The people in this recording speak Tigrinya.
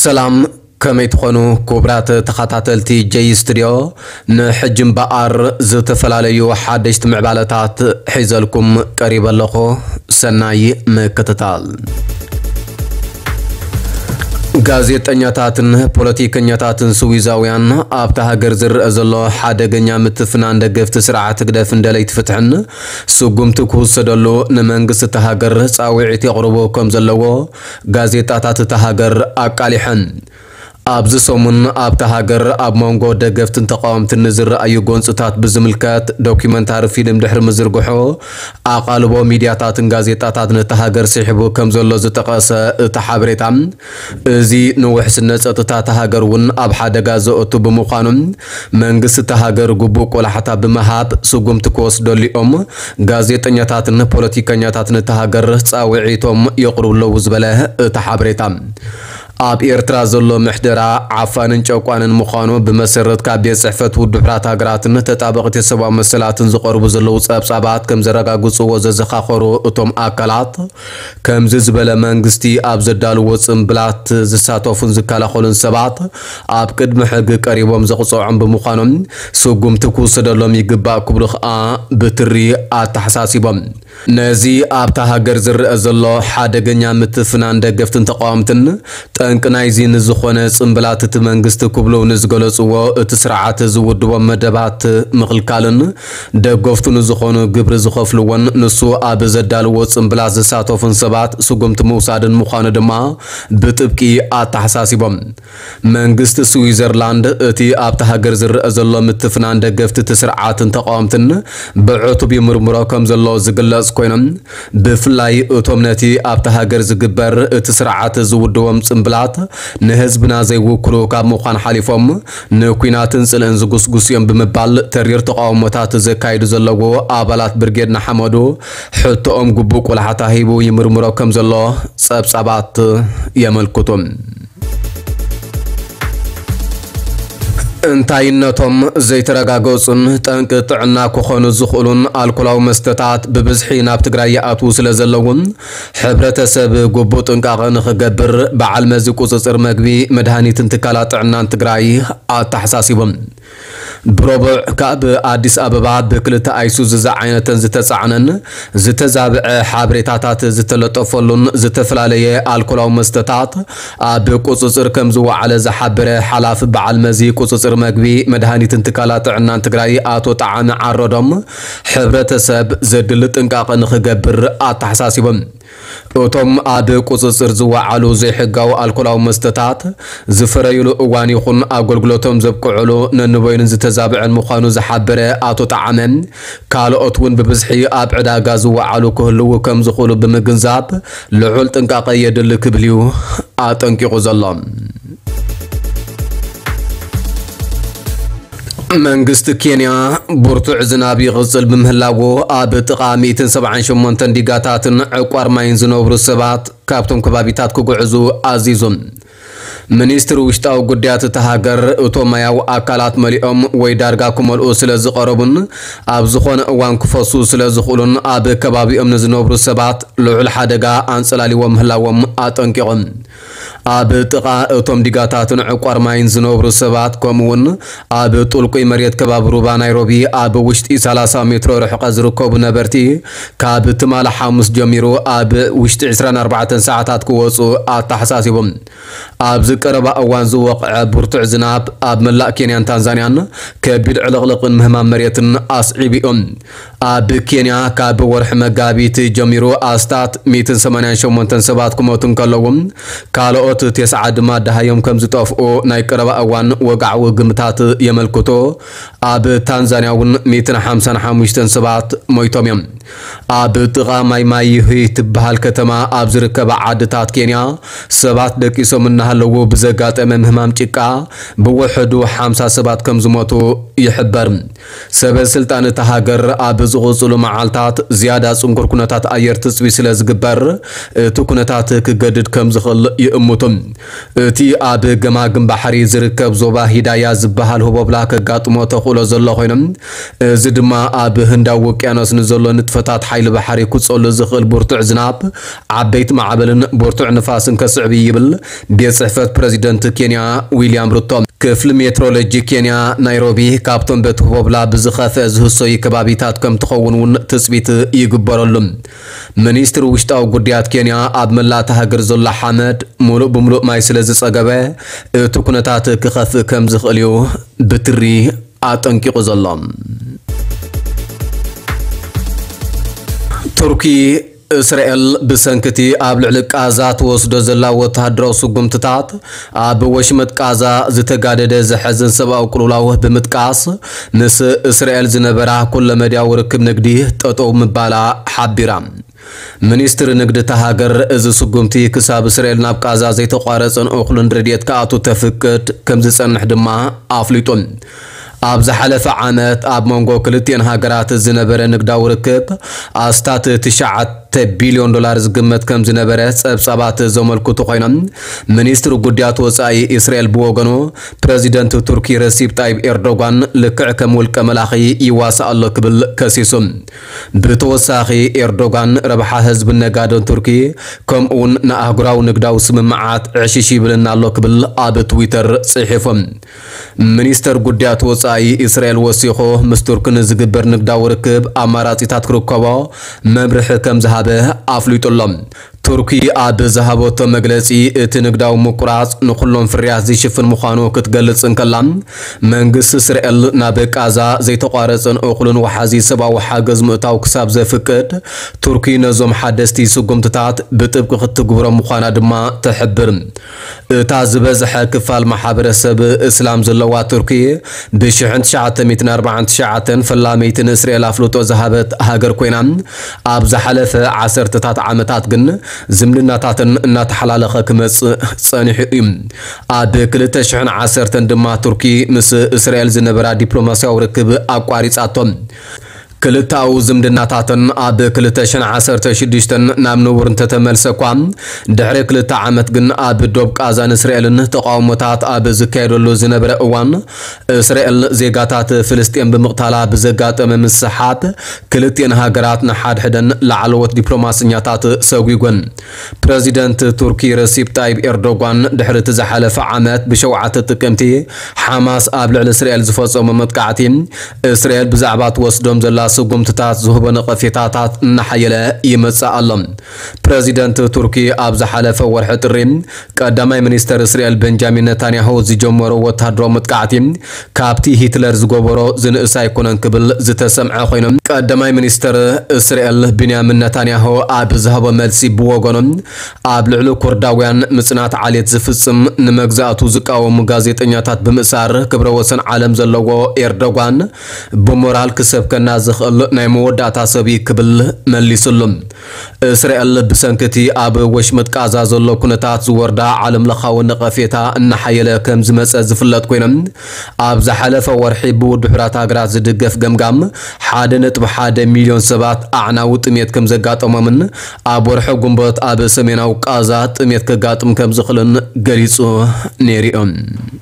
ሰላም፣ ከመይ ትኾኑ ክቡራት ተኸታተልቲ ጀይ ስቱድዮ? ንሕጂ እምበኣር ዝተፈላለዩ ሓደሽቲ ምዕባለታት ሒዘልኩም ቀሪበ ኣለኹ። ሰናይ ምክትታል። ጋዜጠኛታትን ፖለቲከኛታትን ስዊዛውያን ኣብታ ሃገር ዝረኣ ዘሎ ሓደገኛ ምትፍናን ደገፍቲ ስርዓት ህግደፍን ደለይቲ ፍትሕን ስጉምቲ ክውሰደሉ ንመንግስቲ እታ ሃገር ጻውዒት የቕርቡ ከም ዘለዎ ጋዜጣታት እታ ሃገር ኣቃሊሐን። ኣብዚ ሰሙን ኣብታ ሃገር ኣብ መንጎ ደገፍትን ተቃወምትን ንዝረኣዩ ጎንጽታት ብዝምልከት ዶኪመንታሪ ፊልም ድሕሪ ምዝርግሑ፣ ኣቓልቦ ሚድያታትን ጋዜጣታትን እታ ሃገር ስሒቡ ከም ዘሎ ዝጠቐሰ እቲ ሓበሬታ፣ እዚ ንውሕስነት ጸጥታ እታ ሃገር እውን ኣብ ሓደጋ ዘእቱ ብምዃኑ፣ መንግስቲ እታ ሃገር ግቡእ ቆላሕታ ብምሃብ ስጉምቲ ክወስደሉ እዮም ጋዜጠኛታትን ፖለቲከኛታትን እታ ሃገር ጻውዒቶም የቕርቡ ኣለዉ ዝበለ እቲ ሓበሬታ። ኣብ ኤርትራ ዘሎ ምሕደራ ዓፋንን ጨቋንን ምዃኑ ብመሰረት ካብ ቤት ጽሕፈት ውድብ ሕቡራት ሃገራትን ተጣበቕቲ ሰብኣዊ መሰላትን ዝቐርቡ ዘለዉ ጸብጻባት ከም ዘረጋግጽዎ ዘዘኻኸሩ እቶም ኣካላት፣ ከምዚ ዝበለ መንግስቲ ኣብ ዘዳልዎ ጽምብላት ዝሳተፉን ዝከላኸሉን ሰባት ኣብ ቅድሚ ሕጊ ቀሪቦም ዘቕጽዖም ብምዃኖም ስጉምቲ ክውሰደሎም ይግባእ ክብሉ ከኣ ብትሪ ኣተሓሳሲቦም። ነዚ ኣብታ ሃገር ዝረኣ ዘሎ ሓደገኛ ምትፍናን ደገፍትን ተቃወምትን ጠንቂ ናይዚ ንዝኾነ ጽምብላት እቲ መንግስቲ ክብሉ ንዝገለጽዎ እቲ ስርዓት ዝውድቦም መደባት ምኽልካልን ደገፍቱ ንዝኾኑ ግብሪ ዝኸፍልዎን ንሱ ኣብ ዘዳልዎ ጽምብላት ዝሳተፉን ሰባት ስጉምቲ ምውሳድን ምዃኑ ድማ ብጥብቂ ኣተሓሳሲቦም። መንግስቲ ስዊዘርላንድ እቲ ኣብታ ሃገር ዝረኣ ዘሎ ምትፍናን ደገፍቲ እቲ ስርዓትን ተቃወምትን ብዕቱብ ይምርምሮ ከም ዘሎ ዝግለጽ ኮይኖም፣ ብፍላይ እቶም ነቲ ኣብታ ሃገር ዝግበር እቲ ስርዓት ዝውድቦም ጽምብላት ንህዝብና ዘይውክሉ ካብ ምዃን ሓሊፎም ንኲናትን ጽልእን ዝጉስጉስ እዮም ብምባል ተሪር ተቃውሞታት ዘካይዱ ዘለዉ ኣባላት ብርጌድ ንሓመዱ ሕቶኦም ግቡእ ቆላሕታ ሂቡ ይምርምሮ ከም ዘሎ ጸብጻባት የመልክቱ። እንታይነቶም ዘይተረጋገጹን ጠንቂ ጥዕና ክኾኑ ዝኽእሉን ኣልኮላዊ መስተታት ብብዝሒ ናብ ትግራይ ይኣትዉ ስለ ዘለዉ፣ ሕብረተሰብ ግቡእ ጥንቃቐ ንኽገብር በዓል መዚ ቁጽጽር መግቢ፣ መድሃኒትን ትካላት ጥዕናን ትግራይ ኣተሓሳሲቦም። ብረቡዕ ካብ ኣዲስ ኣበባ ብክልተ ኣይሱዙ ዝዓይነተን ዝተጻዕነን ዝተዛብዐ ሓበሬታታት ዝተለጠፈሉን ዝተፈላለየ ኣልኮላዊ መስተታት ኣብ ቁጽጽር ከም ዝወዓለ ዝሓበረ ሓላፊ በዓል መዚ ቁጽጽር መግቢ፣ መድሃኒትን ትካላት ጥዕናን ትግራይ ኣቶ ጠዓመ ዓረዶም፣ ሕብረተሰብ ዘድሊ ጥንቃቐ ንኽገብር ኣተሓሳሲቦም። እቶም ኣብ ቁጽጽር ዝወዓሉ ዘይሕጋዊ ኣልኮላዊ መስተታት ዝፈረዩሉ እዋን ይኹን ኣገልግሎቶም ዘብቅዕሉ ነንበይኑ ዝተዛብዐን ምዃኑ ዝሓበረ ኣቶ ጠዓመ፣ ካልኦት እውን ብብዝሒ ኣብ ዕዳጋ ዝወዓሉ ክህልዉ ከም ዝኽእሉ ብምግንዛብ ልዑል ጥንቃቐ የድሊ ክብል እዩ ኣጠንቂቑ ዘሎ። መንግስቲ ኬንያ ብርቱዕ ዝናብ ይቕጽል ብምህላዉ፣ ኣብ ጥቓ ሚእትን ሰብዓን ሸሞንተን ዲጋታትን ዕቋር ማይን ዝነብሩ ሰባት ካብቶም ከባቢታት ክጉዕዙ ኣዚዙ። ሚኒስትሪ ውሽጣዊ ጉዳያት እታ ሃገር፣ እቶም ማያዊ ኣካላት መሊኦም ወይ ዳርጋ ክመልኡ ስለ ዝቐረቡን ኣብ ዝኾነ እዋን ክፈሱ ስለ ዝኽእሉን ኣብ ከባቢኦም ንዝነብሩ ሰባት ልዑል ሓደጋ ኣንጸላልዎም ምህላዎም ኣጠንቂቖም። ኣብ ጥቓ እቶም ዲጋታትን ዕቋር ማይን ዝነብሩ ሰባት፣ ከምኡውን ኣብ ጥልቁይ መሬት ከባቢ ሩባ ናይሮቢ ኣብ ውሽጢ ሰላሳ ሜትሮ ርሕቀት ዝርከቡ ነበርቲ፣ ካብ ትማሊ ሓሙስ ጀሚሩ ኣብ ውሽጢ ዕስራን ኣርባዕተን ሰዓታት ክወጹ ኣተሓሳሲቦም። ኣብዚ ቀረባ እዋን ዝወቕዐ ብርቱዕ ዝናብ ኣብ መላእ ኬንያን ታንዛንያን ከቢድ ዕልቕልቕን ምህማም መሬትን ኣስዒቡ እዩ። ኣብ ኬንያ ካብ ወርሒ መጋቢት ጀሚሩ ኣስታት ሚእትን ሰማንያን ሸሞንተን ሰባት ክሞቱ እንከለዉ፣ ካልኦት ተስዓ ድማ ደሃዮም ከም ዝጠፍኡ ናይ ቀረባ እዋን ወግዓዊ ግምታት የመልክቱ። ኣብ ታንዛንያ እውን ሚእትን ሓምሳን ሓሙሽተን ሰባት ሞይቶም እዮም። ኣብ ጥቓ ማይማይሂ ትበሃል ከተማ ኣብ ዝርከባ ዓድታት ኬንያ ሰባት ደቂሶም እናሃለዉ ብዘጋጠመ ምህማም ጭቃ ብውሕዱ ሓምሳ ሰባት ከም ዝሞቱ ይሕበር። ሰበ ስልጣን እታ ሃገር ኣብ ዝቕጽሉ መዓልታት ዝያዳ ጽንኩር ኩነታት ኣየር ትጽቢ ስለ ዝግበር፣ እቲ ኩነታት ክገድድ ከም ዝኽእል ይእምቱ። እቲ ኣብ ገማግም ባሕሪ ዝርከብ ዞባ ሂዳያ ዝበሃል ህቦብላ ከጋጥሞ ተኽእሎ ዘሎ ኮይኑ፣ እዚ ድማ ኣብ ህንዳዊ ውቅያኖስ ንዘሎ ንጥፈ ታት ሓይሊ ባሕሪ ክጸሉ ዝኽእል ብርቱዕ ዝናብ፣ ዓበይቲ ማዕበልን ብርቱዕ ንፋስን ከስዕብ ይብል ቤት ጽሕፈት ፕረዚደንት ኬንያ ዊልያም ሩቶ። ክፍሊ ሜትሮሎጂ ኬንያ ናይሮቢ ካብቶም በቲ ህቦብላ ብዝኸፍአ ዝህሰዩ ከባቢታት ከም ትኸውን እውን ትጽቢት ይግበረሉ። ሚኒስትሪ ውሽጣዊ ጉዳያት ኬንያ ኣብ መላእ እታ ሃገር ዘሎ ሓመድ ሙሉእ ብምሉእ ማይ ስለ ዝጸገበ እቲ ኩነታት ክኸፍእ ከም ዝኽእል እዩ ብትሪ ኣጠንቂቑ ዘሎ። ቱርኪ እስራኤል ብሰንክቲ ኣብ ልዕሊ ቃዛ ትወስዶ ዘላ ወተሃደራዊ ስጉምትታት ኣብ ወሽመጥ ቃዛ ዝተጋደደ ዘሐዝን ሰብኣዊ ቅልውላው ብምጥቃስ ምስ እስራኤል ዝነበራ ኩለ መድያዊ ርክብ ንግዲ ጠጠው ምባላ ሓቢራ። ሚኒስትሪ ንግዲ እታ ሃገር እዚ ስጉምቲ ክሳብ እስራኤል ናብ ቃዛ ዘይተቋረጸን እኹልን ረድኤት ክኣቱ ተፍቅድ ከም ዝጸንሕ ድማ ኣፍሊጡ። ኣብ ዝሓለፈ ዓመት ኣብ መንጎ ክልቲኤን ሃገራት ዝነበረ ንግዳዊ ርክብ ኣስታት ትሽዓተ ቢልዮን ዶላር ዝግመት ከም ዝነበረ ጸብጻባት ዘመልክቱ ኮይኖም፣ ሚኒስትሪ ጉዳያት ወጻኢ እስራኤል ብወገኑ ፕረዚደንት ቱርኪ ረሲፕ ጣይብ ኤርዶጋን ልክዕ ከም ውልቀ መላኺ ይዋሳእ ኣሎ ክብል ከሲሱ። ብተወሳኺ ኤርዶጋን ረብሓ ህዝብን ነጋዶን ቱርኪ ከምኡውን ንኣህጉራዊ ንግዳዊ ስምምዓት ዕሽሽ ይብልና ኣሎ ክብል ኣብ ትዊተር ጽሒፉ። ሚኒስተር ጉዳያት ወጻኢ እስራኤል ወሲኹ፣ ምስ ቱርኪ ንዝግበር ንግዳዊ ርክብ ኣማራጺታት ክርከቦ መምርሒ ከም ዝሃበ ኣፍሊጡ ኣሎ። ቱርኪ ኣብ ዝሃበቶ መግለጺ፣ እቲ ንግዳዊ ምቁራጽ ንኹሎም ፍርያት ዝሽፍን ምዃኑ ክትገልጽ እንከላ፣ መንግስቲ እስራኤል ናብ ቃዛ ዘይተቋረጸን እኹልን ወሓዚ ሰብኣዊ ሓገዝ ምእታው ክሳብ ዘፍቅድ፣ ቱርኪ ነዞም ሓደስቲ ስጉምትታት ብጥብቂ ክትግብሮም ምዃና ድማ ትሕብር። እታ ዝበዝሐ ክፋል ማሕበረሰብ እስላም ዘለዋ ቱርኪ፣ ብሽሕን ትሽዓተ ሚእትን ኣርባዓን ትሽዓተን ፈላመይቲ ንእስራኤል ኣፍልጦ ዝሃበት ሃገር ኮይና፣ ኣብ ዝሓለፈ ዓሰርተታት ዓመታት ግን ዝምድናታተን እናተሓላለኸ ክመጽእ ጸኒሑ እዩ። ኣብ ክልተ ሽሕን ዓሰርተን ድማ ቱርኪ ምስ እስራኤል ዝነበራ ዲፕሎማስያዊ ርክብ ኣቋሪጻቶ። ክልተኣዊ ዝምድናታተን ኣብ ክልተ ሽሕን ዓሰርተ ሽዱሽተን ናብ ንቡር እንተተመልሰ እኳ፣ ድሕሪ ክልተ ዓመት ግን ኣብ ዶብ ቃዛን እስራኤልን ተቃውሞታት ኣብ ዝካየደሉ ዝነበረ እዋን፣ እስራኤል ዜጋታት ፍልስጤም ብምቕታላ ብዘጋጠመ ምስሓት፣ ክልቲኤን ሃገራት ንሓድሕደን ላዕለዎት ዲፕሎማሰኛታት ሰጒጎን። ፕረዚደንት ቱርኪ ረሲፕ ጣይብ ኤርዶጋን ድሕሪ እቲ ዝሓለፈ ዓመት ብሸውዓተ ጥቅምቲ ሓማስ ኣብ ልዕሊ እስራኤል ዝፈጸሞ መጥቃዕቲ፣ እስራኤል ብዛዕባ ትወስዶም ዘላ ስጉምትታት ዝህቦ ነቐፌታታት እናሓየለ ይመጽእ ኣሎ። ፕረዚደንት ቱርኪ ኣብ ዝሓለፈ ወርሒ ጥሪ ቀዳማይ ሚኒስተር እስራኤል ቤንጃሚን ነታንያሁ ዝጀመሮ ወተሃደራዊ መጥቃዕቲ ካብቲ ሂትለር ዝገበሮ ዝንእስ ኣይኮነን ክብል ዝተሰምዐ ኮይኑ፣ ቀዳማይ ሚኒስተር እስራኤል ቢንያሚን ነታንያሁ ኣብ ዝሃቦ መልሲ ብወገኑ፣ ኣብ ልዕሊ ኩርዳውያን ምጽናት ዓሌት ዝፍጽም ንመግዛእቱ ዝቃወሙ ጋዜጠኛታት ብምእሳር ክብረ ወሰን ዓለም ዘለዎ ኤርዶጋን ብሞራል ክሰብከና ዝኽእል ናይ መወዳእታ ሰብ እዩ ክብል መሊሱሉ። እስራኤል ብሰንኪ እቲ ኣብ ወሽመጥ ቃዛ ዘሎ ኩነታት ዝወርዳ ዓለም ለኻዊ ነቐፌታ እናሓየለ ከም ዝመጸ ዝፍለጥ ኮይኖም፣ ኣብ ዝሓለፈ ወርሒ ብውድብ ሕቡራት ሃገራት ዝድገፍ ገምጋም ሓደ ነጥቢ ሓደ ሚልዮን ሰባት ኣዕናዊ ጥሜት ከም ዘጋጠሞምን ኣብ ወርሒ ጉንበት ኣብ ሰሜናዊ ቃዛ ጥሜት ከጋጥም ከም ዝኽእልን ገሊጹ ነይሩ እዩ።